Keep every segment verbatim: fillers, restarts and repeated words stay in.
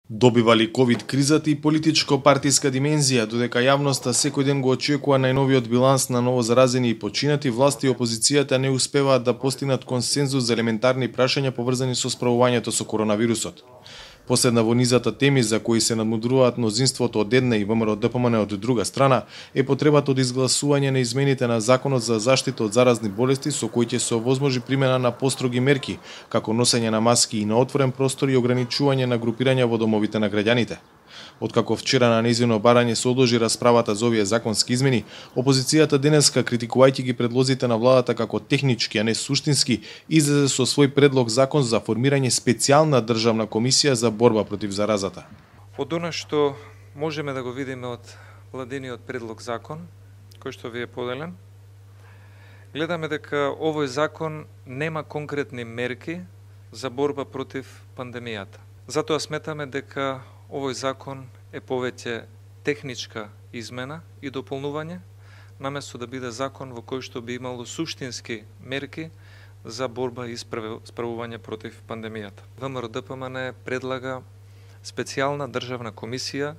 Добива ли ковид кризата и политичко-партиска димензија, додека јавноста секој ден го очекува најновиот биланс на новозаразени и починати, власти и опозицијата не успеваат да постигнат консензус за елементарни прашања поврзани со справувањето со коронавирусот. Последна во низата теми за кои се надмудруваат мнозинството од една и ВМРО-ДПМН од друга страна е потребата од изгласување на измените на Законот за заштита од заразни болести со кои ќе се овозможи примена на построги мерки, како носење на маски и на отворен простор и ограничување на групирање во домовите на граѓаните. Откако вчера на нејзино барање се одложи расправата за овие законски измени, опозицијата денеска, критикувајќи ги предлозите на владата како технички, а не суштински, излезе со свој предлог закон за формирање специјална државна комисија за борба против заразата. Од она што можеме да го видиме од владиниот предлог закон, кој што ви е поделен, гледаме дека овој закон нема конкретни мерки за борба против пандемијата. Затоа сметаме дека овој закон е повеќе техничка измена и дополнување, наместо да биде закон во кој што би имало суштински мерки за борба и справување против пандемијата. ВМРО-ДПМН предлага специјална државна комисија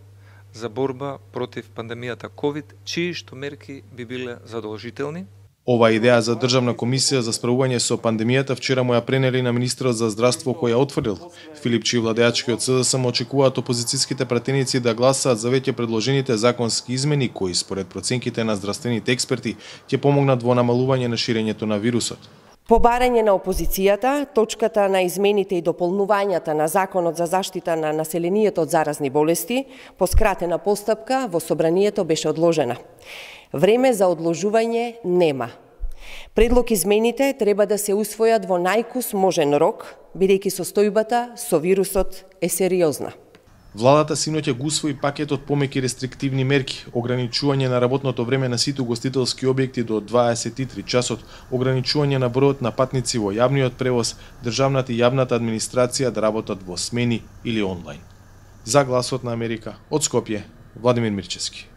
за борба против пандемијата ковид, чии што мерки би биле задолжителни. Ова идеја за државна комисија за справување со пандемијата вчера му ја пренели на министерот за здравство кој ја отворил. Филипчи и владеачкиот СДСМ очекуваат опозицијските пратеници да гласаат за веќе предложените законски измени кои според проценките на здравствените експерти ќе помогнат во намалување на ширењето на вирусот. По барање на опозицијата, точката на измените и дополнувањата на Законот за заштита на населението од заразни болести по скратена постапка во собранието беше одложена. Време за одложување нема. Предлог измените треба да се усвојат во најкус можен рок, бидејќи состојбата со вирусот е сериозна. Владата синоќа го усвои пакетот помеки рестриктивни мерки, ограничување на работното време на сите угостителски објекти до дваесет и три часот, ограничување на бројот на патници во јавниот превоз, државната и јавната администрација да работат во смени или онлайн. За Гласот на Америка, од Скопје, Владимир Мирчевски.